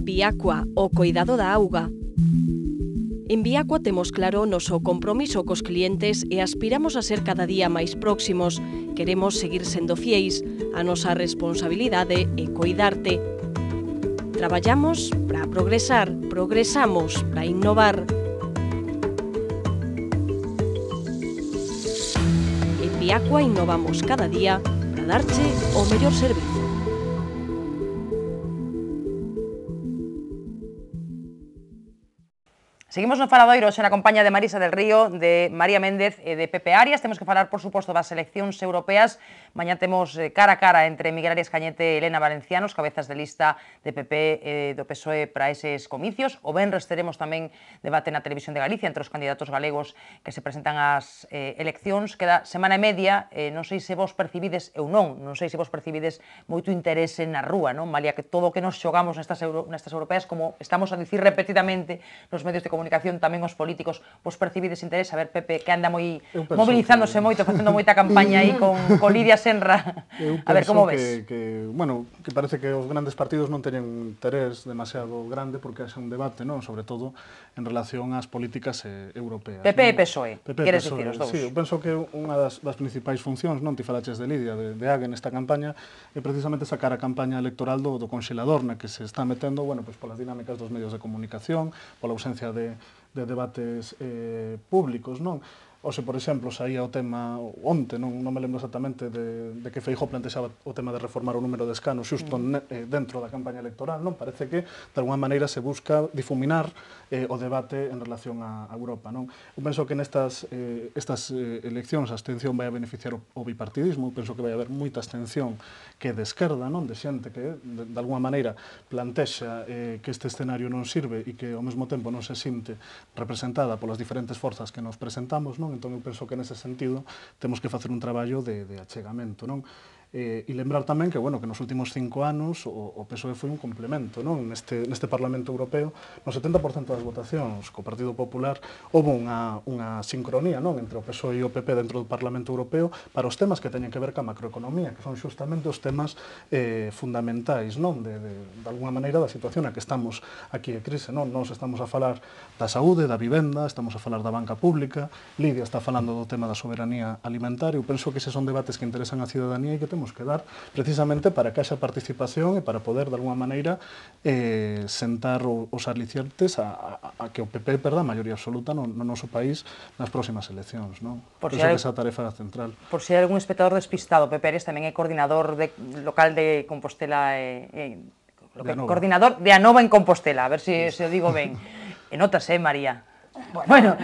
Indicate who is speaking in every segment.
Speaker 1: Viacua, o coidado da auga. En Viacua temos claro o noso compromiso cos clientes e aspiramos a ser cada día máis próximos. Queremos seguir sendo fieis. A nosa responsabilidade é coidarte. Traballamos para progresar, progresamos para innovar. En Viacua innovamos cada día para darche o mellor servizo.
Speaker 2: Seguimos no Faladoiro hoxe na compañía de Marisa del Río, de María Méndez e de Pepe Arias. Temos que falar, por suposto, das eleccións europeas. Mañá temos cara a cara entre Miguel Arias Cañete e Elena Valenciano, os cabezas de lista de PP e do PSOE para eses comicios. O venres teremos tamén debate na Televisión de Galicia entre os candidatos galegos que se presentan ás eleccións. Queda semana e media, non sei se vos percibides, eu non sei se vos percibides moito interese na rúa, non? Malia que todo o que nos xogamos nestas europeas, como estamos a dicir repetidamente nos medios de comunicación, tamén os políticos, vos percibides interés? A ver, Pepe, que anda moi mobilizándose moito, facendo moita campaña aí con Lidia Senra. A ver, como ves?
Speaker 3: Bueno, que parece que os grandes partidos non teñen interés demasiado grande porque haxa un debate, non? Sobre todo en relación ás políticas europeas.
Speaker 2: PP e PSOE, queres dicir os dous?
Speaker 3: Sí, eu penso que unha das principais funcións, non ti falaches de Lidia, de Hague nesta campaña, é precisamente sacar a campaña electoral do conxelador na que se está metendo, bueno, pois polas dinámicas dos medios de comunicación, pola ausencia de debates públicos, non? Oxe, por exemplo, saía o tema onte, non me lembro exactamente de que Feijóo plantexaba o tema de reformar o número de escanos xusto dentro da campaña electoral, non? Parece que, de alguma maneira, se busca difuminar o debate en relación a Europa, non? Eu penso que nestas eleccións a abstención vai a beneficiar o bipartidismo, penso que vai haber moita abstención que é de esquerda, non? De xente que, de alguma maneira, plantexa que este escenario non sirve e que, ao mesmo tempo, non se sinte representada polas diferentes forzas que nos presentamos, non? Entón, eu penso que nese sentido temos que facer un traballo de achegamento, non? E lembrar tamén que, bueno, que nos últimos 5 anos o PSOE foi un complemento, non? Neste Parlamento Europeo, no 70% das votacións co Partido Popular houve unha sincronía, non? Entre o PSOE e o PP dentro do Parlamento Europeo para os temas que teñen que ver ca macroeconomía, que son xustamente os temas fundamentais, non? De alguma maneira da situación na que estamos aquí de crise, non? Nós estamos a falar da saúde, da vivenda, estamos a falar da banca pública, Lidia está falando do tema da soberanía alimentaria. Eu penso que eses son debates que interesan a cidadanía e que temos que dar precisamente para que haxa participación e para poder, de alguma maneira, sentar os alicientes a que o PP perda a maioría absoluta no noso país nas próximas eleccións, non? Penso que esa tarefa central.
Speaker 2: Por si hai algún espectador despistado, Pepe Arias tamén é coordinador local de Compostela, coordinador de Anova en Compostela, a ver se o digo ben. E notas, María? Bueno,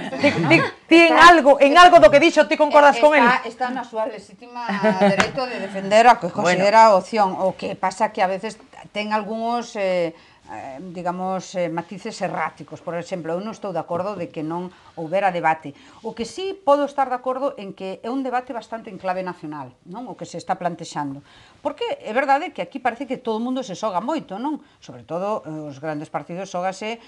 Speaker 2: ti en algo do que dixo ti concordas con el?
Speaker 4: Está na súa legítima dereito de defender a que considera opción. O que pasa que a veces ten algúns digamos, matices erráticos. Por exemplo, eu non estou de acordo de que non houbera debate. O que sí podo estar de acordo en que é un debate bastante en clave nacional, non? O que se está plantexando. Porque é verdade que aquí parece que todo o mundo se xoga moito, non? Sobre todo os grandes partidos xógase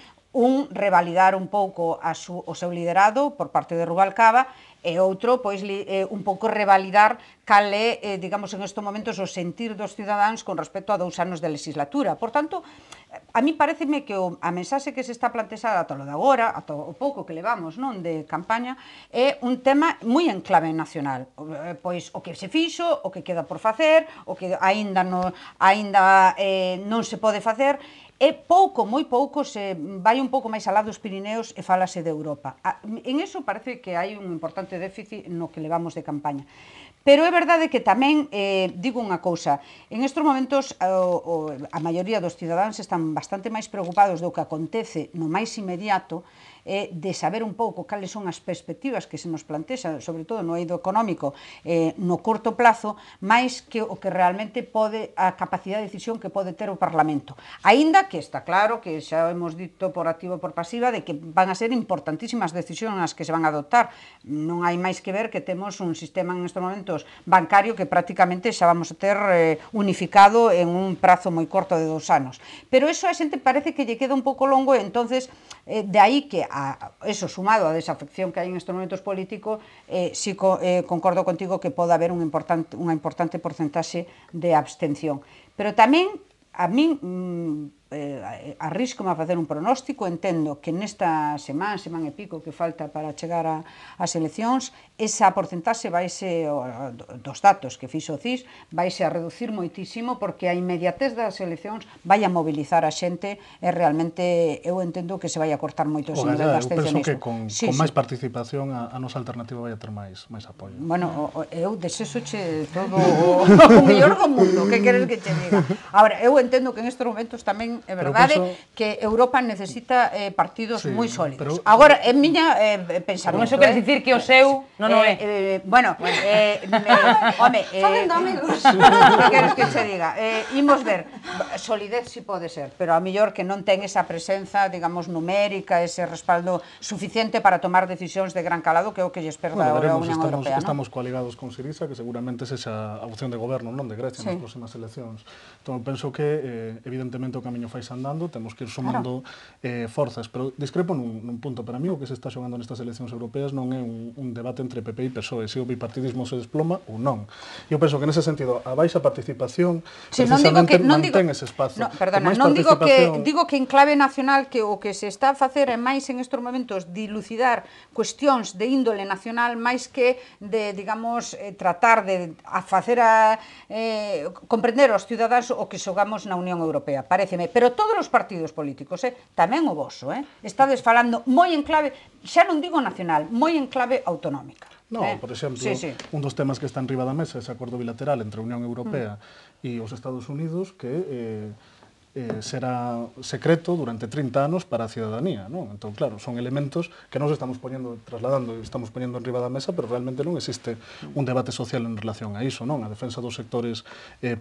Speaker 4: revalidar un pouco o seu liderado por parte de Rubalcaba e outro, pois, un pouco revalidar cal é, digamos, en estes momentos o sentir dos cidadáns con respecto a 2 anos de legislatura. Por tanto, a mí pareceme que a mensaxe que se está plantexada ata lo de agora, ata o pouco que levamos, non, de campaña, é un tema moi en clave nacional. Pois, o que se fixo, o que queda por facer, o que aínda non se pode facer, é pouco, moi pouco, se vai un pouco máis alá dos Pirineos e falase de Europa. En eso parece que hai un importante déficit no que levamos de campaña. Pero é verdade que tamén, digo unha cousa, en estes momentos a maioría dos cidadáns están bastante máis preocupados do que acontece no máis inmediato, de saber un pouco cales son as perspectivas que se nos plantexan, sobre todo no eido económico, no corto plazo, máis que o que realmente pode, a capacidade de decisión que pode ter o Parlamento. Aínda que está claro que xa hemos dito por activa e por pasiva de que van a ser importantísimas decisións as que se van a adoptar. Non hai máis que ver que temos un sistema en estes momentos bancario que prácticamente xa vamos a ter unificado en un prazo moi corto de 2 anos. Pero eso a xente parece que lle queda un pouco longo e entonces de aí que eso sumado a desafección que hai en estes momentos políticos, si concordo contigo que pode haber unha importante porcentaxe de abstención. Pero tamén, a min arrisco-me a facer un pronóstico, entendo que nesta semana e pico que falta para chegar ás eleccións, esa porcentaxe vaise, dos datos que fixo o CIS, vaise a reducir moitísimo, porque a inmediatez das eleccións vai a mobilizar a xente e realmente eu entendo que se vai a cortar moito ese nivel de abstencionismo.
Speaker 3: Eu penso que con máis participación a nosa alternativa vai a ter máis apoio.
Speaker 4: Bueno, eu desexoche todo o mellor do mundo, que queres que che diga? Agora, eu entendo que en estes momentos tamén é verdade que Europa necesita partidos moi sólidos. Agora, en miña pensamento...
Speaker 2: Con eso queres dicir que o seu non é?
Speaker 4: Bueno, home...
Speaker 5: Falando amigos.
Speaker 4: Que queres que che diga? Imos ver, solidez si pode ser, pero a mellor que non ten esa presenza, digamos, numérica, ese respaldo suficiente para tomar decisións de gran calado, que é o que lle esperda a Unión Europea.
Speaker 3: Estamos coaligados con Syriza, que seguramente sexa a opción de goberno, non de Grecia, nas próximas eleccións. Entón, penso que, evidentemente, o camiño fais andando, temos que ir sumando forzas, pero discrepo nun punto. Para mí, o que se está xogando nestas eleccións europeas non é un debate entre PP e PSOE, se o bipartidismo se desploma ou non. Eu penso que, nese sentido, a baixa participación precisamente mantén ese espazo.
Speaker 4: Perdona, non digo que en clave nacional que o que se está a facer é máis en estes momentos dilucidar cuestións de índole nacional máis que de, digamos, tratar de facer comprender aos cidadáns o que xogamos na Unión Europea, paréceme. Pero todos os partidos políticos, tamén o voso, estades falando moi en clave, xa non digo nacional, moi en clave autonómica.
Speaker 3: Non, por exemplo, un dos temas que está en riba da mesa é ese acordo bilateral entre a Unión Europea e os Estados Unidos que será secreto durante 30 anos para a cidadanía, non? Entón, claro, son elementos que nos estamos trasladando e estamos poñendo en riba da mesa, pero realmente non existe un debate social en relación a iso, non? A defensa dos sectores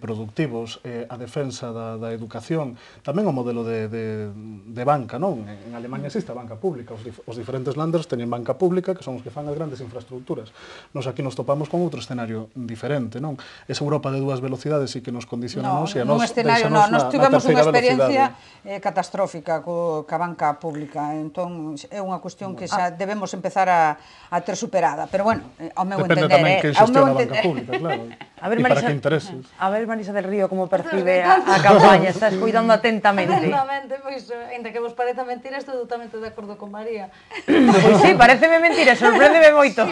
Speaker 3: productivos, a defensa da educación, tamén o modelo de banca, non? En Alemania existe a banca pública, os diferentes landers teñen banca pública, que son os que fan as grandes infraestructuras. Nos aquí nos topamos con outro escenario diferente, non? Esa Europa de dúas velocidades e que nos condicionamos e a nos deixanos na terceira
Speaker 4: experiencia catastrófica ca banca pública, entón é unha cuestión que xa debemos empezar a ter superada, pero bueno, ao meu entender...
Speaker 3: Depende tamén que xestiona a banca pública, claro, e para que intereses.
Speaker 2: A ver, Marisa del Río, como percibe a campaña, estás cuidando atentamente.
Speaker 5: Atentamente, pois, ainda que vos pareza mentira, estou totalmente de acordo con María.
Speaker 2: Pois sí, pareceme mentira, sorpréndeme moito.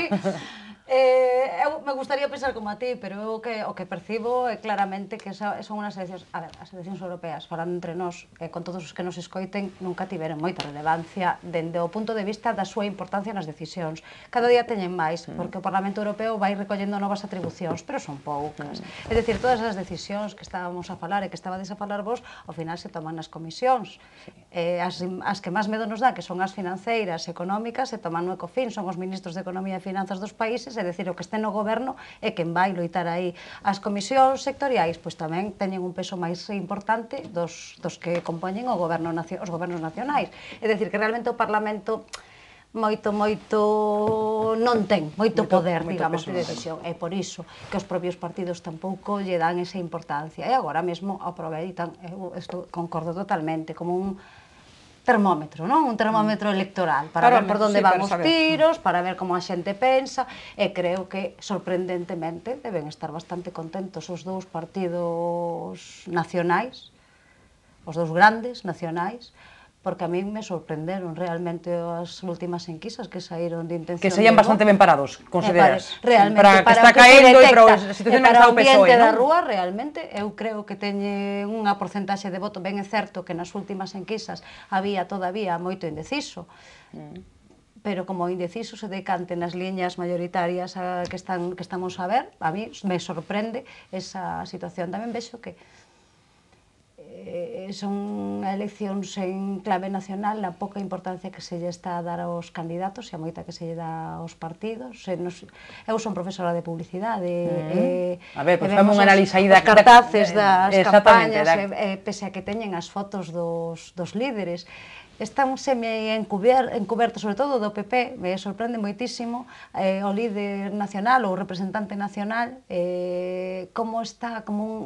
Speaker 5: Eu me gustaría pensar como a ti, pero o que percibo é claramente que son unhas eleccións, a ver, as eleccións europeas, falando entre nós, con todos os que nos escoiten, nunca tiveron moita relevancia dende o punto de vista da súa importancia nas decisións. Cada día teñen máis, porque o Parlamento Europeo vai recollendo novas atribucións, pero son poucas. É dicir, todas as decisións que estábamos a falar e que estabades a falar vos, ao final se toman nas comisións. As que máis medo nos dá, que son as financeiras, económicas, se toman no Ecofin, son os ministros de Economía e Finanzas dos países, é dicir, o que este no goberno é quen vai loitar aí. As comisións sectoriais, pois tamén teñen un peso máis importante dos que compoñen os gobernos nacionais. É dicir, que realmente o Parlamento moito non ten moito poder, digamos, de decisión. É por iso que os propios partidos tampouco lle dan esa importancia. E agora mesmo aproveitan, eu concordo totalmente, como un termómetro, non? Un termómetro electoral para ver por onde van os tiros, para ver como a xente pensa, e creo que, sorprendentemente, deben estar bastante contentos os dous partidos nacionais, os dous grandes nacionais, porque a mí me sorprenderon realmente as últimas enquisas que saíron de intención.
Speaker 2: Que serían bastante ben parados, consideras?
Speaker 5: Realmente,
Speaker 2: para que está caendo e para a situación
Speaker 5: para o
Speaker 2: do
Speaker 5: ambiente
Speaker 2: PSOE,
Speaker 5: da
Speaker 2: non?
Speaker 5: rúa, realmente, eu creo que teñe unha porcentaxe de voto. Ben é certo que nas últimas enquisas había todavía moito indeciso, pero como indeciso se decante nas liñas mayoritarias que estamos a ver, a mí me sorprende esa situación. Tamén vexo que son eleccións en clave nacional, a pouca importancia que se lle está a dar aos candidatos e a moita que se lle dá aos partidos. Eu son profesora de publicidade,
Speaker 2: a ver, pois fame unha análise aí
Speaker 5: os cartaces das campañas, pese a que teñen as fotos dos líderes, están semi-encubertos, sobre todo do PP, me sorprende moitísimo o líder nacional ou o representante nacional, como está como un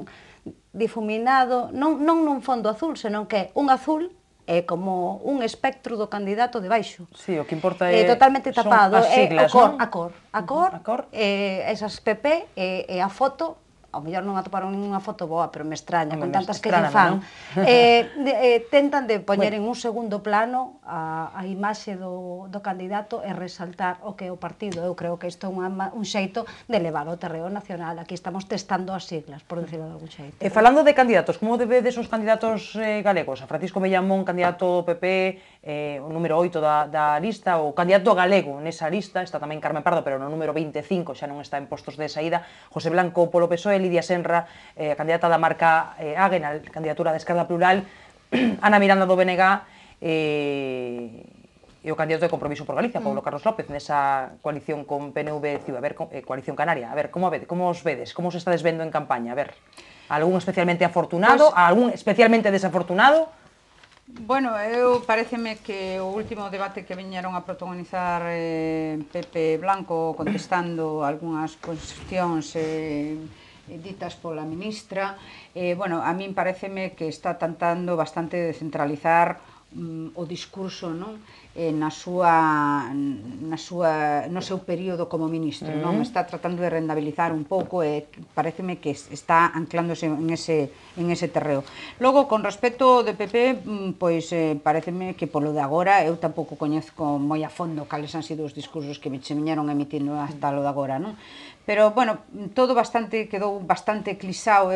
Speaker 5: difuminado, non nun fondo azul, senón que un azul é como un espectro do candidato de baixo.
Speaker 2: Sí, o que importa é
Speaker 5: totalmente tapado,
Speaker 2: son as siglas,
Speaker 5: non? A cor, esas PP e a foto ao mellor non atoparon ninguna foto boa, pero me extraña, con
Speaker 2: Home,
Speaker 5: tantas que lle
Speaker 2: estráname,
Speaker 5: fan. Tentan de poñer en un segundo plano a imaxe do candidato e resaltar o que é o partido. Eu creo que isto é un xeito de levar o terreo nacional. Aquí estamos testando as siglas, por decirlo de algún xeito.
Speaker 2: E falando de candidatos, como vedes os candidatos galegos? A Francisco Mellamón, candidato do PP, o número 8 da lista, o candidato galego nesa lista, está tamén Carmen Pardo, pero no número 25, xa non está en postos de saída, José Blanco polo PSOE, Lidia Senra, a candidata da marca Agen, a candidatura da Esquerda Plural, Ana Miranda do BNG, e o candidato de Compromiso por Galicia, Paulo Carlos López, nesa coalición con PNV CIU, a ver, coalición canaria. A ver, como os vedes? Como os estades vendo en campaña? A ver, algún especialmente afortunado, algún especialmente desafortunado?
Speaker 4: Bueno, eu pareceme que o último debate que viñeron a protagonizar Pepe Blanco contestando algunhas cuestións ditas pola ministra, bueno, a min pareceme que está tentando bastante de centralizar o discurso, non? No seu período como ministro, non? Está tratando de rendabilizar un pouco e pareceme que está anclándose en ese terreo. Logo, con respecto de PP, pois pareceme que polo de agora eu tampouco coñezco moi a fondo cales han sido os discursos que se viñeron emitindo hasta lo de agora, non? Pero, bueno, todo quedou bastante eclipsado,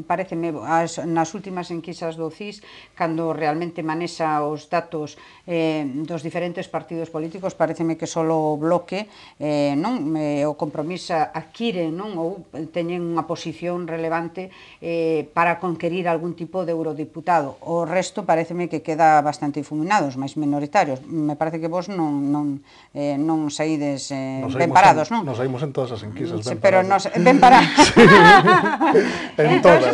Speaker 4: pareceme, nas últimas enquisas do CIS, cando realmente manexa os datos dos diferentes partidos políticos, pareceme que só o Bloque, o Compromiso adquire, ou teñen unha posición relevante para conquerir algún tipo de eurodiputado. O resto pareceme que queda bastante difuminados, máis minoritarios. Me parece que vos non saídes ben parados, non?
Speaker 3: Nos saímos en todas as enquisas.
Speaker 4: Pero ben parados.
Speaker 3: En todas.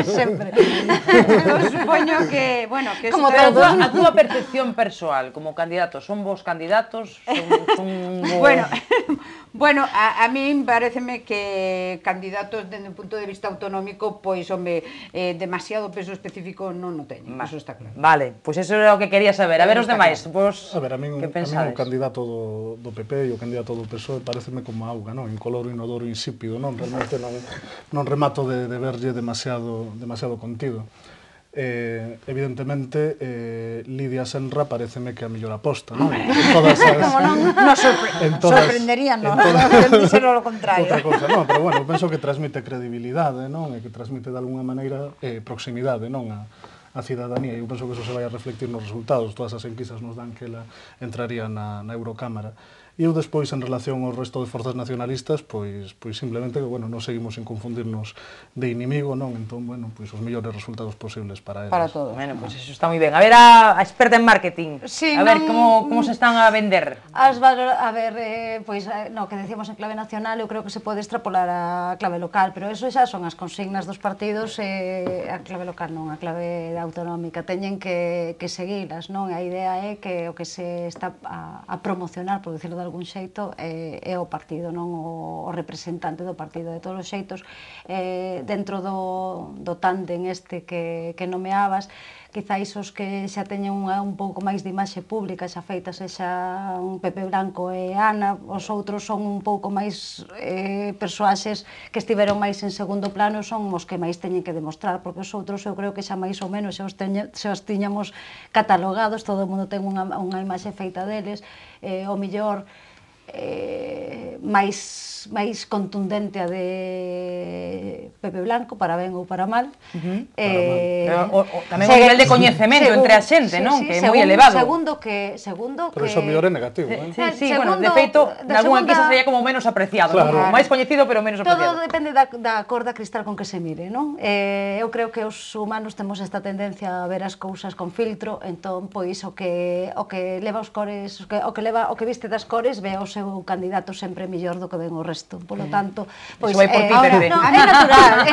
Speaker 4: Sempre. Eu supoño que, bueno, que
Speaker 2: Como a túa percepción persoal como candidato, son vos candidatos?
Speaker 4: Bueno, a min pareceme que candidatos dende un punto de vista autonómico, pois, home, demasiado peso específico non o teñen, eso está claro.
Speaker 2: Vale, pois eso era o que quería saber. A ver os demais, vos que pensades?
Speaker 3: A min o candidato do PP e o candidato do PSOE pareceme como auga, non? Incoloro, inodoro, insípido, non? Realmente non remato de verlle demasiado contido. Evidentemente, Lidia Senra pareceme que a mellor aposta, non?
Speaker 4: Como non sorprenderíanos, dixeron o contrario.
Speaker 3: Outra cousa, non, pero bueno, penso que transmite credibilidade, non? E que transmite de alguna maneira proximidade, non? A cidadanía, e eu penso que eso se vai a reflectir nos resultados. Todas as enquisas nos dan que ela entraría na Eurocámara. E eu despois, en relación ao resto de forzas nacionalistas, pois simplemente que, bueno, non seguimos en confundirnos de inimigo, non? Entón, bueno, pois os mellores resultados posibles para eles.
Speaker 4: Para todos.
Speaker 2: Bueno, pois eso está moi ben. A ver, a experta en marketing.
Speaker 5: Sí,
Speaker 2: a ver, como se están a vender?
Speaker 5: A ver, pois, no, que decíamos en clave nacional, eu creo que se pode extrapolar a clave local, pero eso xa son as consignas dos partidos, a clave local non, a clave autonómica. Teñen que seguilas, non? A idea é que o que se está a promocionar, por decirlo de algún xeito, é o partido, non o representante do partido. De todos os xeitos, dentro do tándem este que nomeabas, quizáis os que xa teñen un pouco máis de imaxe pública xa feita, sexa un Pepe Blanco e Ana, os outros son un pouco máis persoaxes que estiveron máis en segundo plano, son os que máis teñen que demostrar, porque os outros eu creo que xa máis ou menos xa os tiñamos catalogados, todo o mundo ten unha imaxe feita deles, o mellor máis contundente a de Pepe Blanco, para ben ou para mal.
Speaker 2: Tamén o nivel de coñecemento entre a xente, non? Que é moi elevado.
Speaker 5: Segundo que...
Speaker 3: Pero iso mellor é negativo,
Speaker 2: Sí, bueno, de feito, nalgúna enquisa sería como menos apreciado, máis coñecido, pero menos apreciado.
Speaker 5: Todo depende da corda cristal con que se mire, non? Eu creo que os humanos temos esta tendencia a ver as cousas con filtro, entón, pois, o que leva os cores, o que viste das cores, ve o seu candidato sempre mellor do que ven o resto. Por lo tanto, pois é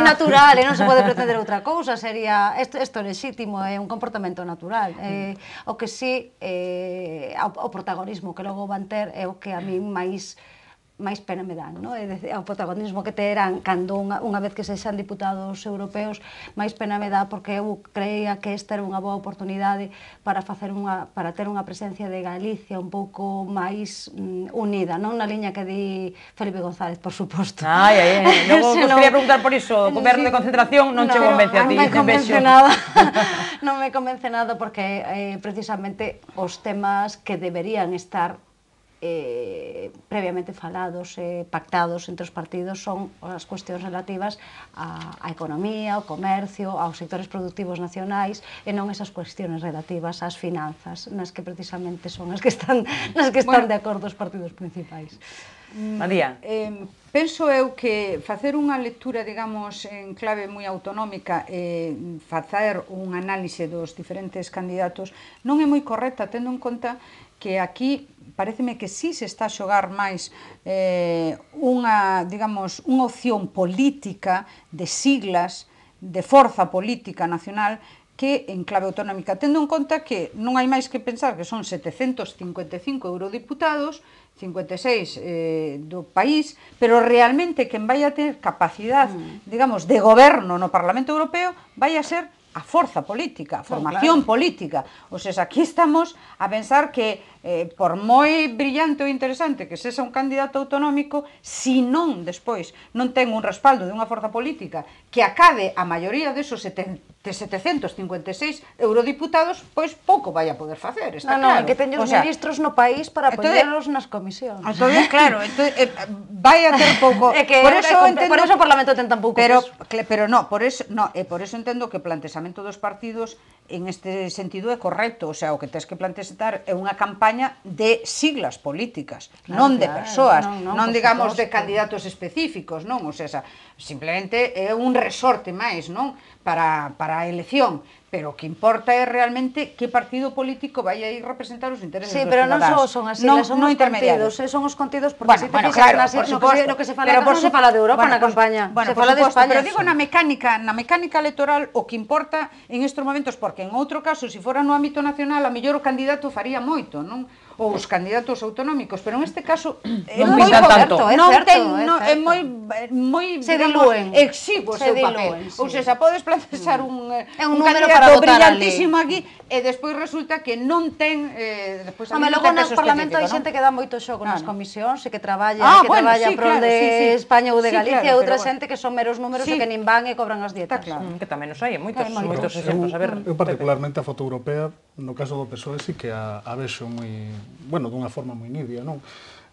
Speaker 5: natural, e non se pode pretender outra cousa, sería isto é lexítimo, é un comportamento natural. O que si o protagonismo que logo van ter é o que a mí máis máis pena me dan, no? O protagonismo que terán cando unha vez que sexan diputados europeos, máis pena me dá porque eu creía que esta era unha boa oportunidade para ter unha presencia de Galicia un pouco máis unida, non na liña que di Felipe González, por suposto.
Speaker 2: Logo vos quería preguntar por iso, o goberno de concentración non che convence a ti,
Speaker 5: non me convence nada. Non me convence nada porque precisamente os temas que deberían estar previamente falados e pactados entre os partidos son as cuestións relativas á economía, ao comercio, aos sectores productivos nacionais e non esas cuestións relativas ás finanzas, nas que precisamente son as que están de acordo os partidos principais.
Speaker 2: María.
Speaker 4: Penso eu que facer unha lectura, digamos, en clave moi autonómica e facer un análise dos diferentes candidatos non é moi correcta, tendo en conta que aquí pareceme que sí se está a xogar máis unha opción política de siglas, de forza política nacional que en clave autonómica, tendo en conta que non hai máis que pensar que son 755 eurodiputados, 56 do país, pero realmente quen vai a ter capacidade, digamos, de goberno no Parlamento Europeo vai a ser a forza política, a formación política. O sea, aquí estamos a pensar que por moi brillante ou interesante que sexa un candidato autonómico, si non despois non ten un respaldo de unha forza política que acabe a maioría desos 756 eurodiputados, pois pouco vai a poder facer, está claro.
Speaker 5: Non, que teñen os ministros no país para poñerlos nas comisións.
Speaker 4: Entón, claro, vai a ter pouco...
Speaker 5: Por eso o Parlamento ten tan pouco peso.
Speaker 4: Pero non, por eso entendo que o plantexamento dos partidos en este sentido é correcto, o sea, o que tens que plantexar é unha campaña de siglas políticas, non de persoas, non digamos de candidatos específicos, non, o sea, simplemente é un resorte máis, non, para a elección, pero o que importa é realmente que partido político vai a ir representar os intereses dos cidadanos.
Speaker 5: Sí, pero non só son as siglas, son os contidos, son os contidos, porque se te fixas no que se fala, non se fala de Europa na campaña, se fala de España.
Speaker 4: Pero digo na mecánica electoral o que importa en estes momentos, porque en outro caso, se fora no ámbito nacional, a mellor o candidato faría moito, non? Ou os candidatos autonómicos, pero en este caso é moi
Speaker 2: certo,
Speaker 4: é moi exiguo o seu papel. Ou seja, podes plantexar un candidato brillantísimo aquí e despois resulta que non ten
Speaker 5: logo no Parlamento hai xente que dá moito xogo nas comisións e que traballa prol de España ou de Galicia e outra xente que son meros números e que nin van e cobran as dietas.
Speaker 2: Que tamén nos hai moitos exemplos.
Speaker 3: Eu particularmente a foto europea, no caso do PSOE, sí que a vexo moi, bueno, dunha forma moi nidia, non?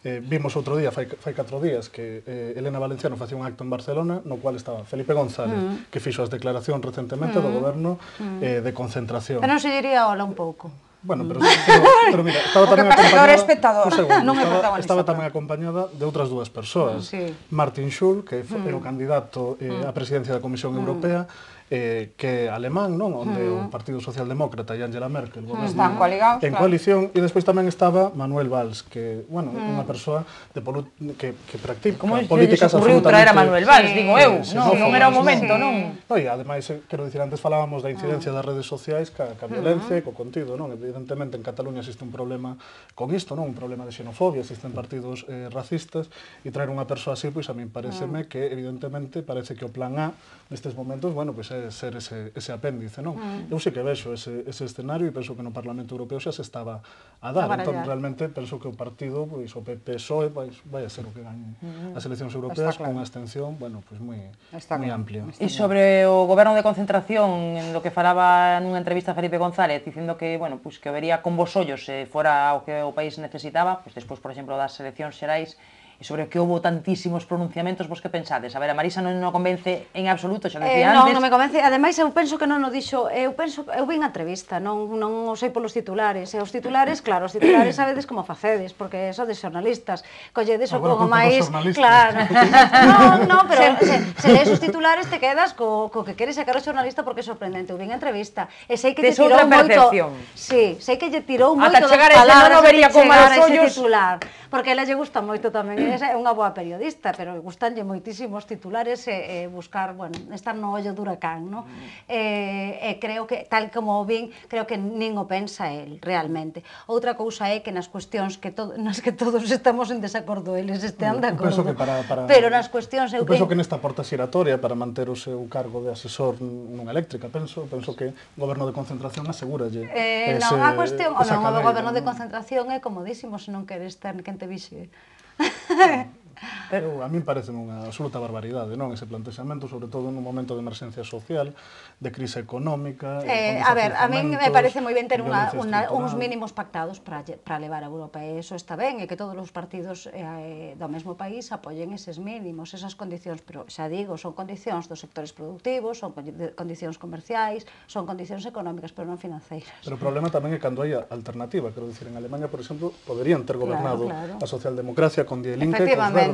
Speaker 3: Vimos outro día, fai 4 días, que Elena Valenciano facía un acto en Barcelona no cual estaba Felipe González, que fixo as declaracións recentemente do goberno de concentración.
Speaker 5: Pero non se diría hola un pouco.
Speaker 3: Bueno, pero mira, estaba tamén acompañada, estaba tamén acompañada de outras dúas persoas. Martin Schulz, que é o candidato á presidencia da Comisión Europea, que é alemán, non? Onde o Partido Socialdemócrata e Angela Merkel
Speaker 4: están coaligados
Speaker 3: en coalición, e despois tamén estaba Manuel Valls, que, bueno, unha persoa que practica políticas absolutamente...
Speaker 2: Como se traer a Manuel Valls, digo eu, non era o momento, non?
Speaker 3: E ademais, quero dicir, antes falábamos da incidencia das redes sociais ca violencia e co contido, non? Evidentemente, en Cataluña existe un problema con isto, non? Un problema de xenofobia, existen partidos racistas, e traer unha persoa así, pois a min pareceme que, evidentemente, parece que o plan A, nestes momentos, bueno, pois ser ese apéndice, non? Eu sei que vexo ese escenario e penso que no Parlamento Europeo xa se estaba a dar, entón realmente penso que o partido, pois o PSOE vai a ser o que gañe as eleccións europeas con unha abstención, bueno, pois moi amplia.
Speaker 2: E sobre o goberno de concentración, en lo que falaba nunha entrevista a Felipe González, dicindo que, bueno, pois que o vería con vos ollos se fora o que o país necesitaba, pois despois, por exemplo, das eleccións xerais, e sobre o que houve tantísimos pronunciamentos, vos que pensades? A ver, a Marisa non convence en absoluto, xa decía antes.
Speaker 5: Non me convence, ademais eu penso que non o dixo, eu vi a entrevista, non o sei polos titulares, e os titulares, claro, os titulares sabedes como facedes, porque sodes xornalistas, colledes o pouco máis, claro, non, pero se lees os titulares te quedas co que queres sacar o xornalista porque é sorprendente, eu vi a entrevista, e sei que te tirou moito, sí, sei que lle tirou moito das palabras de chegar a ese titular, porque a ela lle gusta moito tamén é unha boa periodista, pero gustanlle moitísimo os titulares e buscar, bueno, estar no ollo do huracán, non? E creo que, tal como o vin, creo que nin o pensa el, realmente. Outra cousa é que nas cuestións nas que todos estamos en desacordo, eles estean de acordo. Pero nas cuestións...
Speaker 3: Eu penso que nesta porta xiratoria para manter o seu cargo de asesor nunha eléctrica, penso que o goberno de concentración asegúralle
Speaker 5: non, a cuestión, o goberno de concentración é comodísimo se non queres ter quen te vixe.
Speaker 3: Pero a min parece unha absoluta barbaridade, non? Ese plantexamento, sobre todo nun momento de emerxencia social, de crise económica...
Speaker 5: A ver, a min me parece moi ben ter uns mínimos pactados para levar a Europa, e iso está ben, e que todos os partidos do mesmo país apoyen eses mínimos, esas condicións, pero xa digo, son condicións dos sectores productivos, son condicións comerciais, son condicións económicas, pero non financeiras.
Speaker 3: Pero o problema tamén é cando hai alternativa, quero dicir, en Alemania, por exemplo, poderían ter gobernado a socialdemocracia con Die Linke e cos verdes.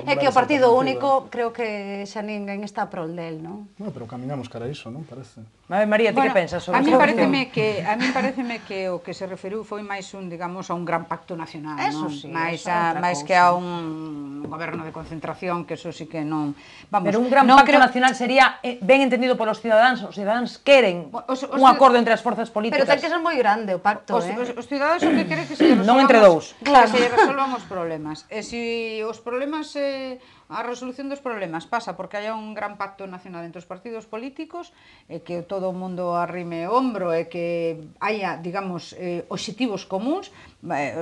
Speaker 5: É que o partido único creo que xa ninguén está prol del, non?
Speaker 3: Bueno, pero caminamos cara a iso, non? Parece.
Speaker 2: María, ti que pensas sobre
Speaker 4: isto? A mí pareceme que o que se referiu foi máis digamos, a un gran pacto nacional, non? Máis que a un goberno de concentración, que eso sí que non...
Speaker 2: Pero un gran pacto nacional sería ben entendido polos cidadáns, os cidadáns queren un acordo entre as forzas políticas.
Speaker 5: Pero ten que ser moi grande o pacto,
Speaker 4: Os cidadáns o que queren que se
Speaker 2: non entre dous.
Speaker 4: Claro, se resolvan os problemas. E se os problemas... A resolución dos problemas pasa porque haya un gran pacto nacional entre os partidos políticos, que todo o mundo arrime o hombro e que haya, digamos, obxectivos comuns,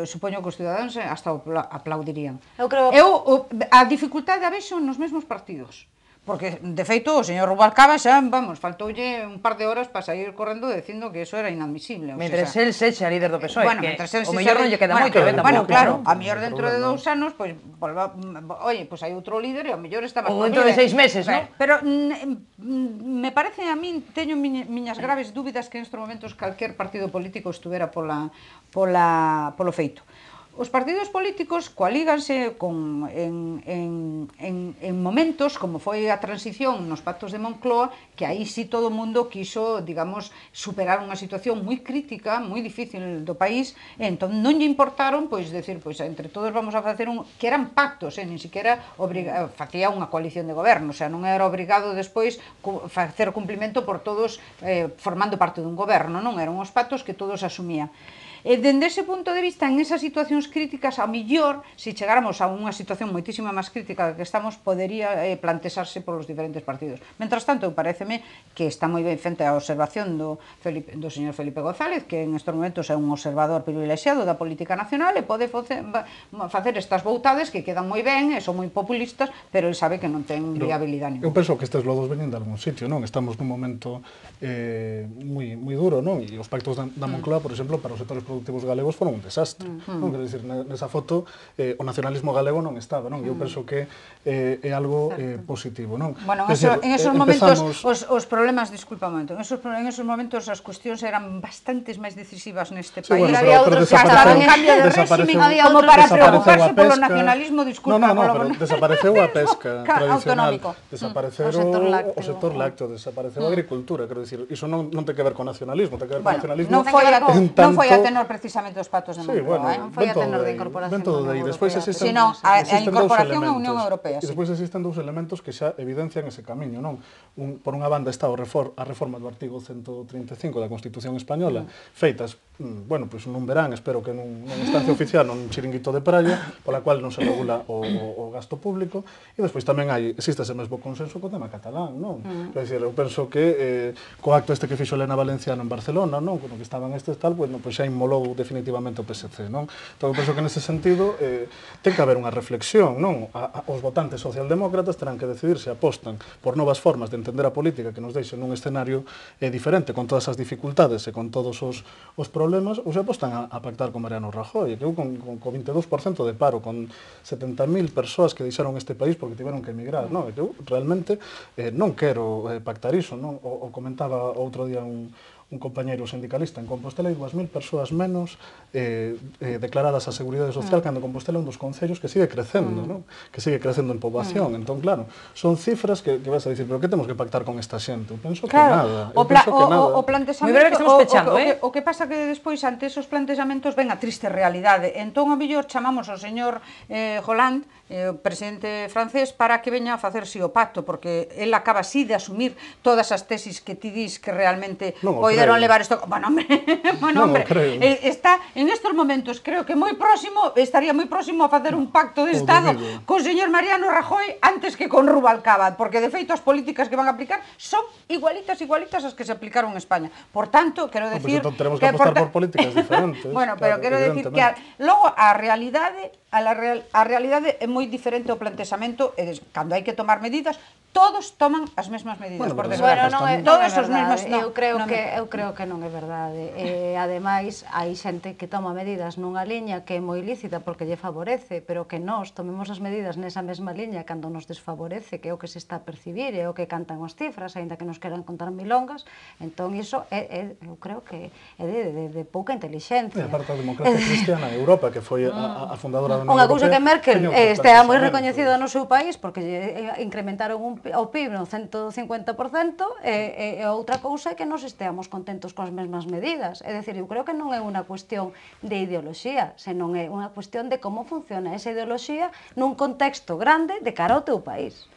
Speaker 4: supoño que os cidadáns hasta aplaudirían. A dificultade a vexo nos mesmos partidos. Porque, de feito, o señor Rubalcaba xa, vamos, faltoulle un par de horas para sair correndo dicindo que eso era inadmisible.
Speaker 2: Mentres el sexa líder do PSOE, que o mellor non lle queda moito,
Speaker 4: Bueno, claro, a mellor dentro de 2 anos, pois, oye, pois hai outro líder e o mellor está máis...
Speaker 2: Ou dentro de 6 meses, non?
Speaker 4: Pero me parece a min, teño miñas graves dúbidas que nestes momentos calquer partido político estuvera polo feito. Os partidos políticos coalíganse en momentos, como foi a transición nos pactos de Moncloa, que aí sí todo o mundo quiso, digamos, superar unha situación moi crítica, moi difícil do país, e entón non lle importaron, pois, decir, pois, entre todos vamos a facer que eran pactos, nin siquiera facía unha coalición de goberno, o sea, non era obrigado despois facer cumplimento por todos formando parte dun goberno, non eran os pactos que todos asumían. E dende ese punto de vista, en esas situacións críticas, ao millor, se chegáramos a unha situación moitísima máis crítica que estamos, podería plantexarse polos diferentes partidos. Mentras tanto, pareceme que está moi ben frente a observación do señor Felipe González, que en estes momentos é un observador privilexiado da política nacional e pode facer estas boutades que quedan moi ben e son moi populistas, pero ele sabe que non ten viabilidade ninguna.
Speaker 3: Eu penso que estes lodos veñen de algún sitio, non? Estamos nun momento moi duro, non? E os pactos da Moncloa, por exemplo, para os sectores productivos galegos foron un desastre. Non? Quero dicir, nesa foto o nacionalismo galego non estaba, non? Eu penso que é algo positivo, non?
Speaker 4: Bueno, en esos momentos os problemas, disculpa un momento, en esos momentos as cuestións eran bastantes máis decisivas neste país.
Speaker 5: Había outros que estaban en cambio de réxime,
Speaker 4: como para preocuparse polo nacionalismo, disculpa.
Speaker 3: No, pero desapareceu a pesca tradicional, desapareceu o sector lácteo, desapareceu a agricultura, quero dicir, iso non ten que ver con nacionalismo, ten que ver con nacionalismo.
Speaker 4: Non foi a tenor precisamente os pactos de Moncloa,
Speaker 5: non foi a tenor de incorporación da Unión Europea.
Speaker 4: Sino a incorporación á Unión Europea.
Speaker 3: E despois existen dous elementos que xa evidencian ese camiño, non? Por unha banda está a reforma do artigo 135 da Constitución Española, feitas, bueno, pois nun verán, espero que nun instancia oficial, nun chiringuito de praia, pola cual non se regula o gasto público, e despois tamén existe ese mesmo consenso co tema catalán, non? Quer dizer, eu penso que co acto este que fixo Elena Valenciano en Barcelona, non? Como que estaban estes tal, pois xa inmolou definitivamente o PSC, non? Entón, eu penso que nese sentido ten que haber unha reflexión, non? Os votantes socialdemócratas terán que decidir se apostan por novas formas de entender a política que nos deixen nun escenario diferente, con todas as dificultades e con todos os problemas, ou se apostan a pactar con Mariano Rajoy, que eu con 22% de paro, con 70.000 persoas que deixaron este país porque tiveron que emigrar, non? Eu realmente non quero pactar iso, non? O comentaba outro día un un compañeiro sindicalista en Compostela, hai 2.000 persoas menos declaradas a Seguridade Social, cando Compostela é un dos concellos que sigue crecendo, non? Que sigue crecendo en poboación. Entón, claro, son cifras que vas a dicir, pero que temos que pactar con esta xente? Eu penso que nada.
Speaker 4: O
Speaker 2: Moi breve que estamos pechando,
Speaker 4: o que pasa que despois, ante esos plantexamentos, ven a triste realidade. Entón, a mellor chamamos ao señor Hollande, o presidente francés, para que veña a facerse o pacto, porque el acaba así de asumir todas as tesis que ti dis que realmente poideron levar isto. Bueno, hombre, está en estes momentos, creo que estaría moi próximo a facer un pacto de Estado con o señor Mariano Rajoy antes que con Rubalcaba, porque de feito as políticas que van a aplicar son igualitas as que se aplicaron en España. Por tanto, quero decir
Speaker 3: que tenemos que apostar por políticas diferentes.
Speaker 4: Bueno, pero quero decir que logo a realidade é moi diferente ao plantexamento, e cando hai que tomar medidas, todos toman as mesmas medidas, por desgracia.
Speaker 5: Todos os mesmos. Eu creo que non é verdade. Ademais, hai xente que toma medidas nunha liña que é moi lícita porque lle favorece, pero que nós tomemos as medidas nesa mesma liña cando nos desfavorece, que é o que se está a percibir, é o que cantan as cifras, aínda que nos queran contar milongas. Entón, iso eu creo que é de pouca inteligencia.
Speaker 3: E aparte a democracia cristiana en Europa, que foi a fundadora da Unión
Speaker 5: Unha
Speaker 3: Europea.
Speaker 5: cousa que Merkel estea moi recoñecida no seu país porque incrementaron o PIB no 150%, e outra cousa é que nos esteamos contentos coas mesmas medidas. É dicir, eu creo que non é unha cuestión de ideoloxía, senón é unha cuestión de como funciona esa ideoloxía nun contexto grande de cara ao teu país.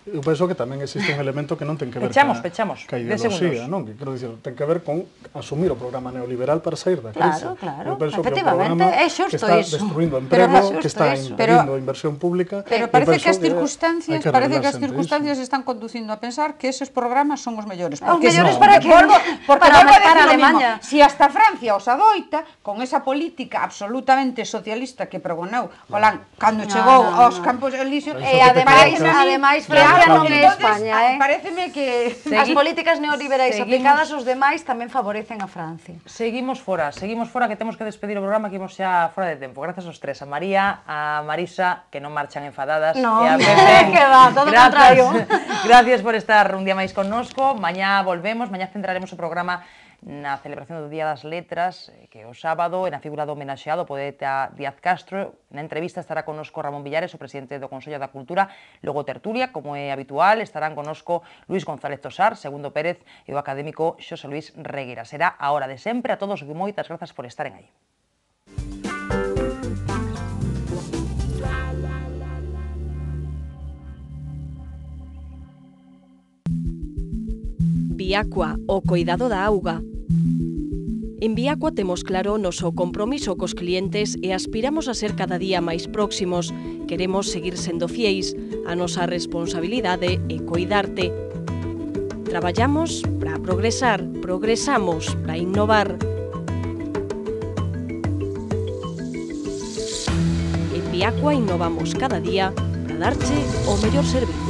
Speaker 3: Eu penso que tamén existe un elemento que non ten que ver
Speaker 2: Pechamos,
Speaker 3: ca ideoloxía, non? Que quero dicir, ten que ver con asumir o programa neoliberal para sair da crise.
Speaker 5: Claro,
Speaker 3: Eu penso
Speaker 5: efectivamente, é
Speaker 3: xusto
Speaker 5: xusto
Speaker 3: que
Speaker 5: iso.
Speaker 3: está destruindo emprego, que está impedindo a inversión pública.
Speaker 4: Pero parece que as circunstancias están conducindo a pensar que eses programas son os mellores.
Speaker 5: Os mellores para que? Para Alemanha.
Speaker 4: Si hasta Francia os adoita, con esa política absolutamente socialista que pregoneu Hollande cando chegou aos Campos Elíseos,
Speaker 5: e ademais Francia non é España,
Speaker 4: pareceme que
Speaker 5: as políticas neoliberais aplicadas aos demais tamén favorecen a Francia.
Speaker 2: Seguimos fora, que temos que despedir o programa, que imos xa fora de tempo. Grazas aos tres, a María, a Marisa, que non marchan enfadadas,
Speaker 5: no,
Speaker 2: e a Pepe.
Speaker 5: Que va, todo o contrario.
Speaker 2: Gracias por estar un día máis connosco. Mañá volvemos, mañá centraremos o programa na celebración do Día das Letras, que é o sábado, e na figura do homenaxeado, o poeta Díaz Castro. Na entrevista estará connosco Ramón Villares, o presidente do Consello da Cultura, logo tertulia, como é habitual, estarán connosco Luis González Tosar, Segundo Pérez e o académico Xosé Luis Reguera. Será a hora de sempre. A todos, moitas grazas por estaren aí.
Speaker 1: Viacua, o coidado da auga. En Viacua temos claro o noso compromiso cos clientes e aspiramos a ser cada día máis próximos. Queremos seguir sendo fieis. A nosa responsabilidade é coidarte. Traballamos para progresar, progresamos para innovar. En Viacua innovamos cada día para darche o mellor servicio.